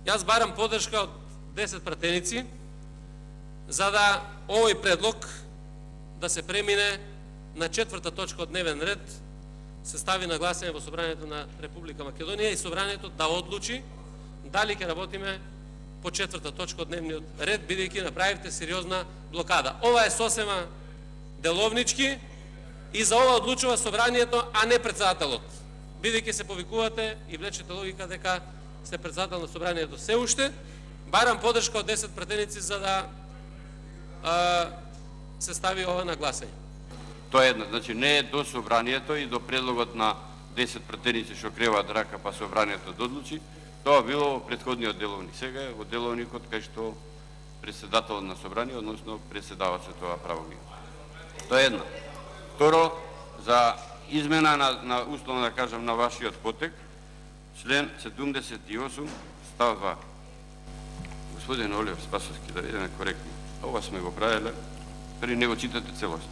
Јас барам поддршка од 10 пратеници за да овој предлог да се премине на 4-та точка од дневен ред, се стави на гласање во Собранието на Република Македонија и Собранието да одлучи дали ќе работиме по 4-та точка од дневниот ред, бидејќи направивте сериозна блокада. Ова е сосема деловнички и за ова одлучува Собранието, а не председателот. Бидејќи се повикувате и влечете логика дека сте председател на Собранието се уште, барам поддршка од 10 пратеници за да се стави ова на гласање. Тоа е едно, значи не е до Собранието и до предлогот на 10 пратеници што креваат рака па Собранието да одлучи. Тоа било во претходниот деловник. Сега е во деловникот кај што председателот на Собрание, односно председава се тоа право ги. Тоа е едно. Второ, за измена на условно да кажам на вашиот потек, член 78 став 2. Господин Олиев Спасовски, да бидеме коректни. Ова сме го правиле, први не го читате целосно.